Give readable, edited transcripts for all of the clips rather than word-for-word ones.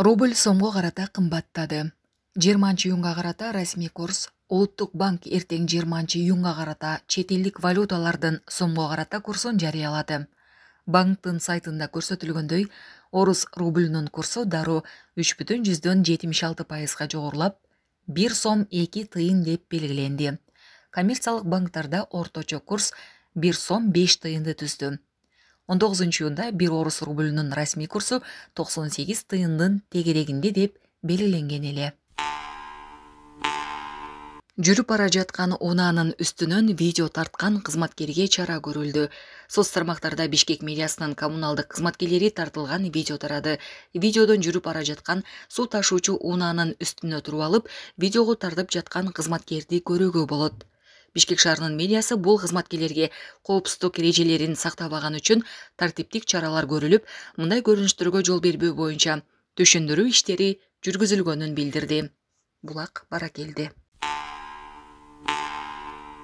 Рубль сомго карата кымбаттады. 20-июнга карата расмий курс Улуттук банк эртең 20-июнга карата чет элдик валюталардын сомго карата курсун жарыялады. Банктын сайтында көрсөтүлгөндөй, орус рубльнун курсу дароо 3,76% жогорулап, 1 сом 2 тыйын деп белгиленди. Коммерциялык банктарда орточо курс 1 сом 5 тыйынды түздү. 19-июнда 1 орус рубльнун расмий курсу 98 тыйындын тегерегинде деп белгиленген эле. Жүрүп бара жаткан унаанын үстүнөн видео тарткан кызматкерге чара көрүлдү. Соц тармактарда Бишкек мэриясынын коммуналдык кызматкерлери тартылган видео тарады. Видеодон жүрүп бара жаткан суу ташуучу унаанын үстүнө туруп алып, видеого тартып жаткан кызматкерди көрүүгө болот. Бишкек шаарынын мэриясы бул кызматкерлерге коопсуздук эрежелерин сактабаганы үчүн тартиптик чаралар көрүлүп, мындай көрүнүштөргө жол бербөө боюнча түшүндүрүү иштери жүргүзүлгөнүн билдирди. Булак Баракелди.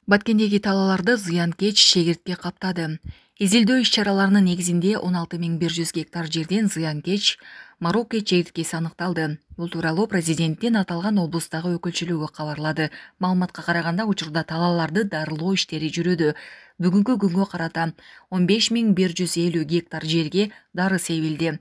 Баткендеги талааларды зыянкеч шегиртке каптады. Изилдөө иш-чараларынын негизинде 16100 гектар жерден зыянкеч Марокко чегирткеси аныкталды. Бул тууралуу президенттин аталган облустагы өкүлчүлүгү кабарлады. Маалыматка караганда, учурда талааларды дарылоо иштери жүрүүдө. Бүгүнкү күнгө карата 15150 гектар жерге дары себилди.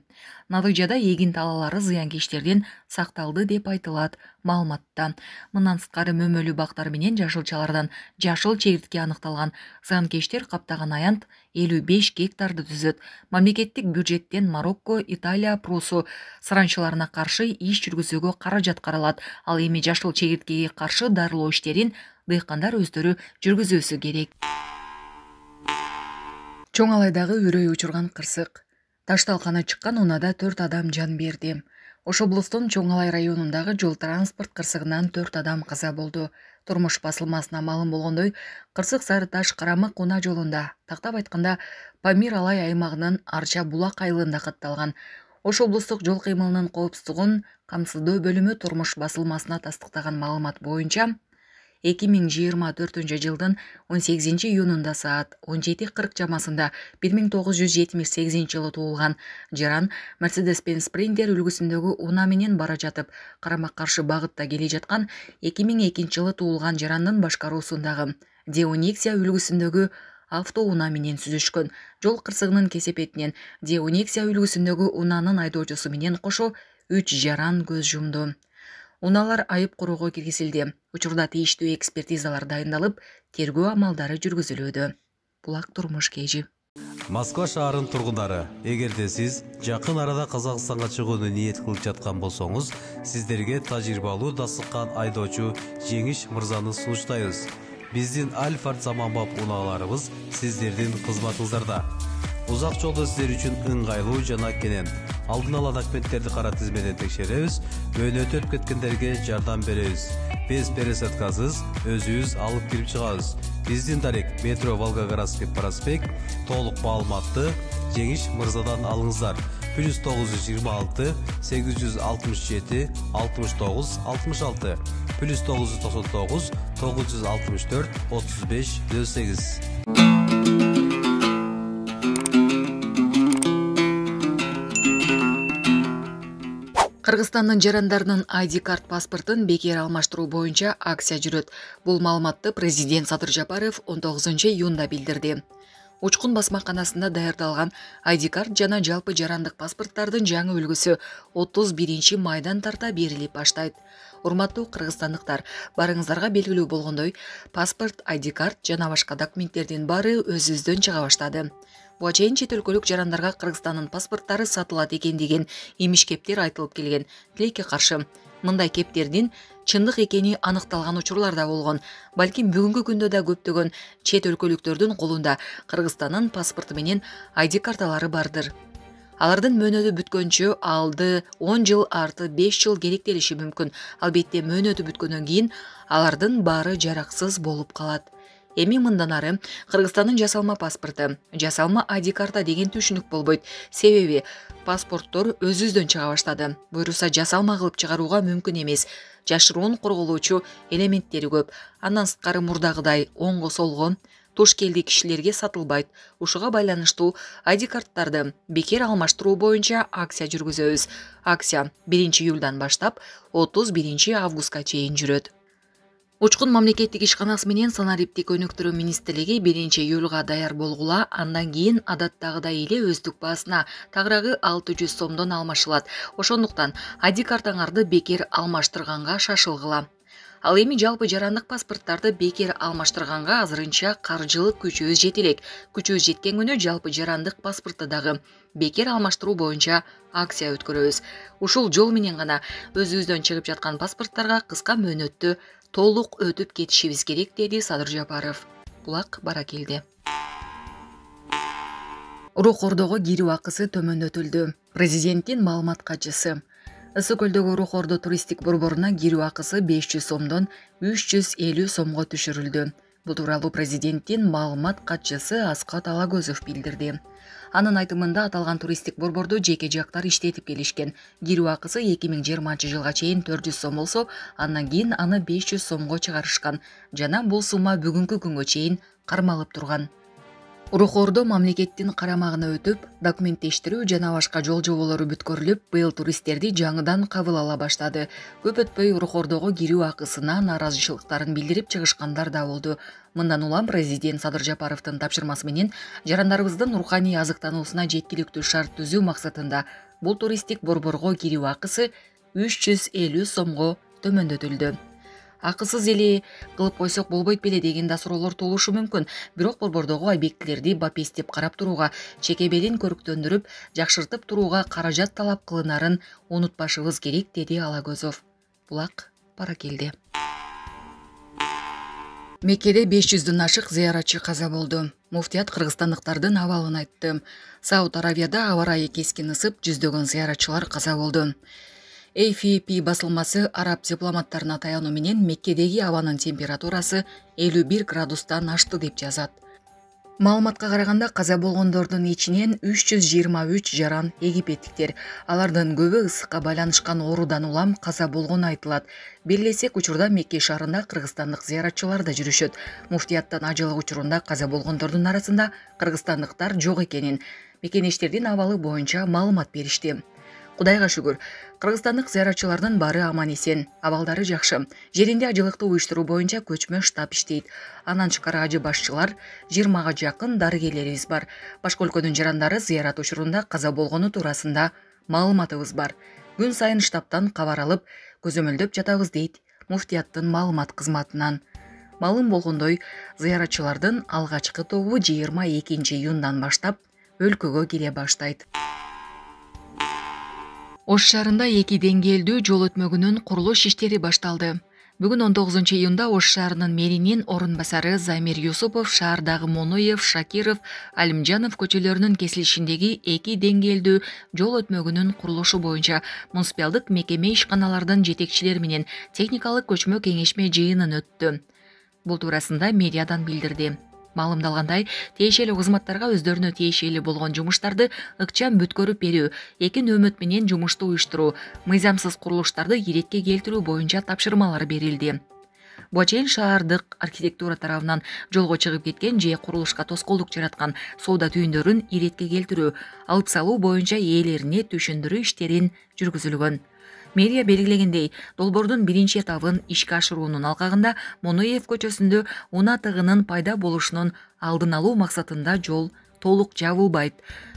Натыйжада эгин талаалары зыянкечтерден сакталды деп айтылат маалыматта. Мындан сырткары мөмөлүү бактар менен жашылчалардан жашыл чегиртке аныкталган. Зыянкечтер каптаган аянт 55 гектарды түзөт. Мамлекеттик бюджеттен Марокко, Италия, Прусу саранчыларына каршы иш жүргүзүүгө каражат каралат. Ал эми жашыл чегирткеге каршы дарылоо иштерин дыйкандар өздөрү жүргүзүүсү керек. Чоң Алайдагы үрөй учурган кырсык. Ташталканы чыккан унаада 4 адам жан берди. Ош облустун Чоң Алай районундагы жол транспорт кырсыгынан 4 адам каза болду. Турмуш басылмасына маалым болгондой, кырсык Сары Таш Карамык унаа жолунда, тактап айтканда Памир Алай аймагынын Арча Булак айылында катталган. Ош облустук жол кыймылынын коопсуздугун камсыздоо бөлүмү турмуш басылмасына тастыктаган маалымат боюнча 2024 жылдын 18-июнунда саат 17:40 чамасында 1978 жылы туулган жаран Mercedes-Benz Sprinter үлгүсүндөгү унаа менен бара жатып, карама каршы багытта келе жаткан 2002 жылы туулган жарандын башкаруусундагы D-Onexia үлгүсүндөгү автоунаа менен сүзүшкөн. Жол кырсыгынын кесепетинен D-Onexia үлгүсүндөгү унаанын айдоочусу менен кошо 3 жаран көз жумду. Унаалар айып куруого киргизилди. Учурда тийиштүү экспертизалар дайындалып, тергөө амалдары жүргүзүлүүдө. Булак турмуш кежи. Москва шаарынын тургундары, эгерде сиз жакын арада Казакстанга чыгууну ниет кылып жаткан болсоңуз, сиздерге тажрыйбалуу дасыккан айдоочу Жеңиш мырзаны сунуштайбыз. Биздин Альфард заманбап унааларыбыз сиздердин кызматыңыздарда. Узак жолдо сиздер үчүн ыңгайлуу жана кенен. Алдын ала документтерди кара тизмеден текшеребиз, өөнөтүп кеткендерге жардам беребиз. Без пересадкасыз өзүбүз алып кирип чыгабыз. Биздин дарек метро Волгоградский проспект. Толук маалыматты Жеңиш мырзадан алыңыздар. +926 867 69 66 +999 964 35 08. Кыргызстандын жарандарынын ID карт паспортун бекер алмаштыруу боюнча акция жүрөт. Бул маалыматты президент Садыр Жапаров 19-июнда билдирди. Учкун басмаканасында даярдалган ID карт жана жалпы жарандык паспорттардын жаңы үлгүсү 31 майдан тарта берилип баштайт. Урматтуу кыргызстандыктар, барыңыздарга белгилүү болгондой, паспорт, ID карт жана башка документтердин баары өзүбүздөн чыга баштады. Буга чейин чет өлкөлүк жарандарга Кыргызстандын паспорттары сатылат экен деген имиш кептер айтылып келген. Тилекке каршы, мындай кептердин чындык экени аныкталган учурлар да болгон. Балким бүгүнкү күндө да көптөгөн чет өлкөлүктөрдүн колунда Кыргызстандын паспорту менен ID карталары бардыр. Алардын мөөнөтү бүткөнчө алды 10 жыл арты 5 жыл керектелиши мүмкүн. Албетте мөөнөтү бүткөндөн кийин алардын баары жараксыз болуп калат. Эми мындан ары Кыргызстандын жасалма паспорту, жасалма ID карта деген түшүнүк болбойт. Себеби паспорттор өзүбүздөн чыга баштады. Буйруса жасалма кылып чыгарууга мүмкүн эмес. Жашыруун корголоочу элементтери көп. Андан сырткары мурдагыдай оңго солго туш келди кишилерге сатылбайт. Ушуга байланыштуу ID карттарды бекер алмаштыруу боюнча акция жүргүзөбүз. Акция 1-июлдан баштап 31-августка чейин жүрөт. Учкун мамлекеттик ишканасы менен санариптик өнүктүрүү министрлиги 1-июлга даяр болгула, андан кийин адаттагыдай эле өздүк баасына тагыраагы 600 сомдон алмашылат. Ошондуктан ID картаңарды бекер алмаштырганга шашылгыла. Ал эми жалпы жарандык паспорттарды бекер алмаштырганга азырынча каржылык күчүбүз жете элек. Күчүбүз жеткен күнү жалпы жарандык паспортто дагы бекер алмаштыруу боюнча акция өткөрөбүз. Ушул жол менен гана өзүбүздөн чыгып жаткан паспорттарга кыска мөөнөттө толук өтүп кетишибиз керек, деди Садыр Жапаров. Булак Баракелди. Урук Ордого кирүү акысы төмөндөтүлдү. Президенттин маалымат катчысы. Ысык көлдөгү Урук Ордо туристтик борборуна кирүү акысы 500 сомдон 350 сомго түшүрүлдү. Бул тууралуу президенттин маалымат катчысы Аскат Алагөзов билдирди. Анын айтымында аталган туристтик борборду жеке жактар иштетип келишкен. Кирүү акысы 2020-жылга чейин 400 сом болсо, андан кийин аны 500 сомго чыгарышкан жана бул сумма бүгүнкү күнгө чейин кармалып турган. Урук Ордо мамлекеттин карамагына өтүп, документтештирүү жана башка жол жоболору бүткөрүлүп, быйыл туристтерди жаңыдан кабыл ала баштады. Көп өтпөй Урук Ордого кирүү акысына нааразычылыктарын билдирип чыгышкандар да болду. Мындан улам президент Садыр Жапаровдун тапшырмасы менен жарандарыбыздын руханий азыктануусуна жеткиликтүү шарт түзүү максатында бул туристтик борборго кирүү акысы 350 сомго төмөндөтүлдү. Акысыз эле кылып койсок болбойт беле деген да суроолор туулушу мүмкүн. Бирок борбордогу объектилерди бапестеп карап турууга, чекебелин көрктөндүрүп, жакшыртып турууга каражат талап кылынарын унутпашыбыз керек, деди Алагөзов. Булак Баракелди. Меккеде 500дөн ашык зыяратчы каза болду. Муфтият кыргызстандыктардын абалын айтты. Сауд Аравияда аба ырайы кескин ысып, жүздөгөн зыяратчылар каза болду. AFP басылмасы араб дипломаттарына таянуу менен Меккедеги абанын температурасы 51 градустан ашты деп жазат. Маалыматка караганда каза болгондордун ичинен 323 жаран египеттиктер. Алардын көбү ысыкка байланышкан оорудан улам каза болгону айтылат. Белгилесек, учурда Мекке шаарында кыргызстандык зыяратчылар да жүрүшөт. Муфтияттан ажылык учурунда каза болгондордун арасында кыргызстандыктар жок экенин, мекенештердин абалы боюнча маалымат беришти. Кудайга шүгүр, кыргызстандык зыяратчылардын баары аман эсен, абалдары жакшы. Жеринде ажылыкты уюштуруу боюнча көчмө штаб иштейт. Андан тышкары ажы башчылар 20га жакын дарыгерлерибиз бар. Башка өлкөнүн жарандары зыярат учурунда каза болгону туурасында маалыматыбыз бар. Күн сайын штабтан кабар алып, көзөмөлдөп жатабыз, дейт муфтияттын маалымат кызматынан. Маалым болгондой, зыяратчылардын алгачкы тобу 22-июндан баштап өлкөгө кире баштайт. Ош шаарында 2 деңгээлдүү жол өтмөгүнүн курулуш иштери башталды. Бүгүн 19-июнда Ош шаарынын мэринин орун басары Замир Юсупов шаардагы Моноев, Шакиров, Алимжанов көчөлөрүнүн кесилишиндеги 2 деңгээлдүү жол өтмөгүнүн курулушу боюнча муниципалдык мекеме ишканалардын жетекчилери менен техникалык көчмө кеңешме жыйынын өттү. Бул туурасында медиадан билдирди. Маалымдалгандай, тиешелүү кызматтарга өздөрүнө тиешелүү болгон жумуштарды ыкчам бүткөрүп берүү, 2 нөөмөт менен жумушту уюштуруу, мыйзамсыз курулуштарды иретке келтирүү боюнча тапшырмалар берилди. Буга чейин шаардык архитектура тарабынан жолго чыгып кеткен же курулушка тоскоолдук жараткан соода түйүндөрүн иретке келтирүү, алып салуу боюнча ээлерине түшүндүрүү иштерин жүргүзүлгөн. Мэрия белгилегендей, долбоордун биринчи этабын ишке ашыруунун алкагында Моноев көчөсүндө унаа тыгынын пайда болушунун алдын алуу максатында жол толук жабылбайт.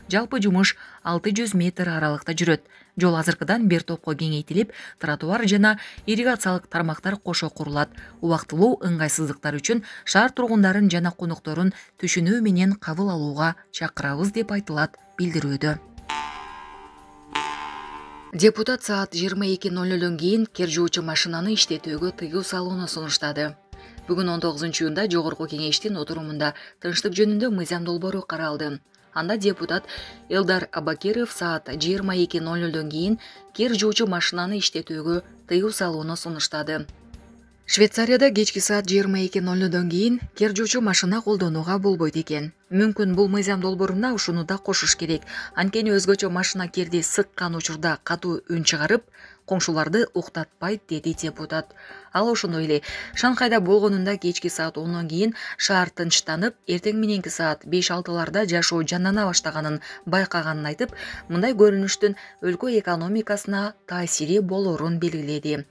Жалпы жумуш 600 метр аралыкта жүрөт. Жол азыркыдан бир топко кеңейтилип, тротуар жана ирригациялык тармактар кошо курулат. Убактылуу ыңгайсыздыктар үчүн шаар тургундарын жана конокторун түшүнүү менен кабыл алууга чакырабыз, деп айтылат билдирүүдө. Депутат саат 22:00 кийин кер жуучу машинаны иштетүүгө тыюу салууну сунуштады. Бүгүн 19-июнда Жогорку кеңештин отурумунда тынчтык жөнүндө мыйзам долбоору каралды. Анда депутат Элдар Абакиров саат 22:00 кийин кер жуучу машинаны иштетүүгө тыюу салууну сунуштады. Швейцарияда кечки саат 22:00 кийин кер жуучу машина колдонууга болбойт экен. Мүмкүн бул мыйзам долбооруна ушуну да кошуш керек. Анткени өзгөчө машина керди сыккан учурда катуу үн чыгарып, коңшуларды уктатпайт, деди депутат. Ал ошондой эле Шанхайда болгонунда кечки саат 10 кийин шаар тынчтанып, эртең мененки саат 5-6 жашоо жандана баштаганын байкаганын айтып, мындай көрүнүштүн өлкө экономикасына таасири болорун белгиледи.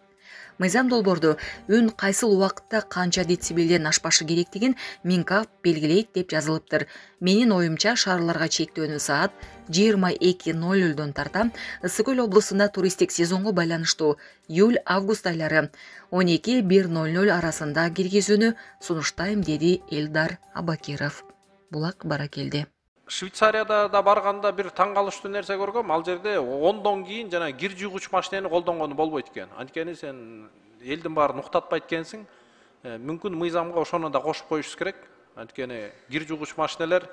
Мыйзам долбоордо үн кайсыл убакытта канча децибелден ашпашы керектигин Минкап белгилейт деп жазылыптыр. Менин оюмча шаарларга чектөөнү саат 22:00 тарта Ысык Көл облусунда туристтик сезонго байланыштуу июль-август айлары 12:00 арасында киргизүүнү сунуштайм, деди Элдар Абакиров. Булак Баракелди. Швейцарияда да барганда бир таң калыштуу нерсе көргөм. Ал жерде 10дон кийин жана кир жугуч машинени колдонгону болбойт экен. Анткени сен элдин баарын уктатпайт экенсиң. Мүмкүн мыйзамга ошону да кошуп коюшубуз керек. Анткени кир жугуч машинелер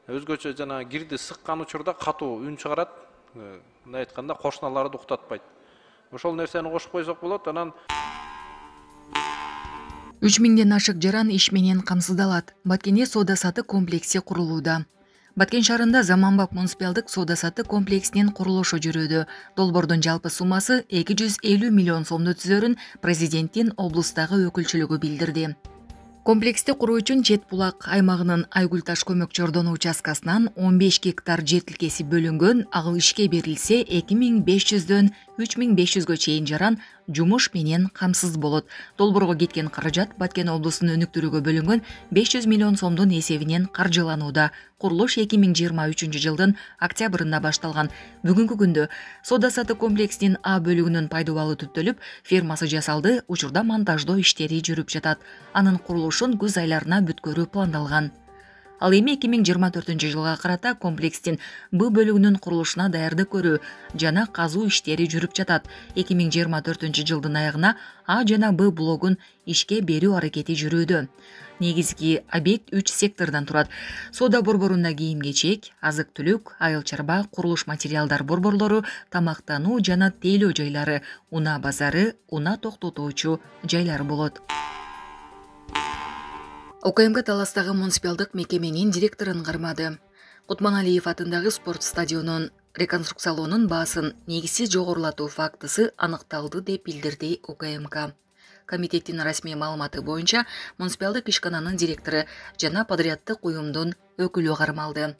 өзгөчө жана кирди сыккан учурда катуу үн чыгарат. Мындай айтканда кошуналарды уктатпайт. Ошол нерсени кошуп койсок болот. Анан 3000ден ашык жаран иш менен камсыздалат. Баткенде соода-саттык комплекси курулууда. Баткен шаарында заманбап муниципалдык соода-саттык комплексинин курулушу жүрүүдө. Долбоордун жалпы суммасы 250 миллион сомду түзөрүн президенттин облустагы өкүлчүлүгү билдирди. Комплексти куруу үчүн Чет булак аймагынын Айгүл таш көмөк чордону участкасынан 15 гектар жер тилкеси бөлүнгөн. Ал ишке берилсе 2500дөн 3500гө чейин жаран жумуш менен камсыз болот. Долбоорго кеткен каражат Баткен облусунун өнүктүрүүгө бөлүнгөн 500 миллион сомдун эсебинен каржыланууда. Курулуш 2023 жылдын октябрында башталган. Бүгүнкү күндө соода-саттык комплексинин А бөлүгүнүн пайдубалы түптөлүп, фермасы жасалды, учурда монтаждоо иштери жүрүп жатат. Анын курулушун күз айларына бүткөрүү пландалган. Ал эми 2024 жылга карата комплекстин Б бөлүгүнүн курулушуна даярдык көрүү жана казуу иштери жүрүп жатат. 2024 жылдын аягына А жана Б блогун ишке берүү аракети жүрүүдө. Негизги объект 3 сектордон турат. Соода борборунда кийим-кечек, азык-түлүк, айыл-чарба, курулуш материалдар борборлору, тамактануу жана тейлөө жайлары, унаа базары, унаа токтотуучу жайлар болот. УКМК Таластагы муниципалдык мекеменин директорун кармады. Кутманалиев атындагы спорт стадионун реконструкциялоонун баасын негизсиз жогорулатуу фактысы аныкталды деп билдирди УКМК. Комитеттин расмий маалыматы боюнча муниципалдык ишкананын директору жана подряддык уюмдун өкүлү кармалды.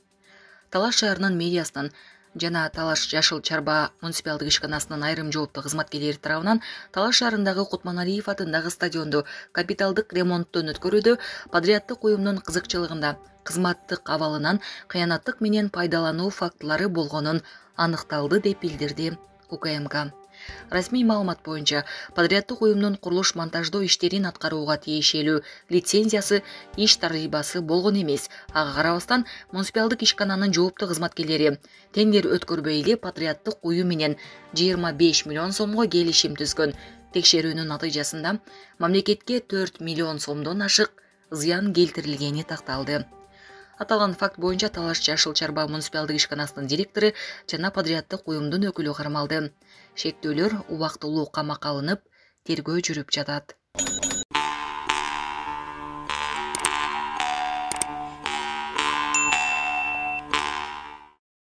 Талаш шаарынын мэриясынын жана Талаш Жашыл Чарба муниципалдык ишканасынын айрым жооптуу кызматкерлери тарабынан Талаш шаарындагы Кутманалиев атындагы стадионду капиталдык ремонттон өткөрүүдө подряддык уюмдун кызыкчылыгында кызматтык абалынан кыянаттык менен пайдалануу фактылары болгонун аныкталды деп билдирди УКМК. Расмий маалымат боюнча подряддык уюмдун курулуш монтаждоо иштерин аткарууга тиешелүү лицензиясы, иш тарыйбасы болгон эмес. Ага карабастан муниципалдык ишкананын жооптуу кызматкерлери тендер өткөрбөй эле подряддык уюм менен 25 миллион сомго келишим түзгөн. Текшерүүнүн натыйжасында мамлекетке 4 миллион сомдон ашык зыян келтирилгени такталды. Аталган факт боюнча Талаш Жашыл Чарба муниципалдык ишканасынын директору жана подряддык уюмдун өкүлү кармалды. Шектөөлөр убактылуу камакка алынып, тергөө жүрүп жатат.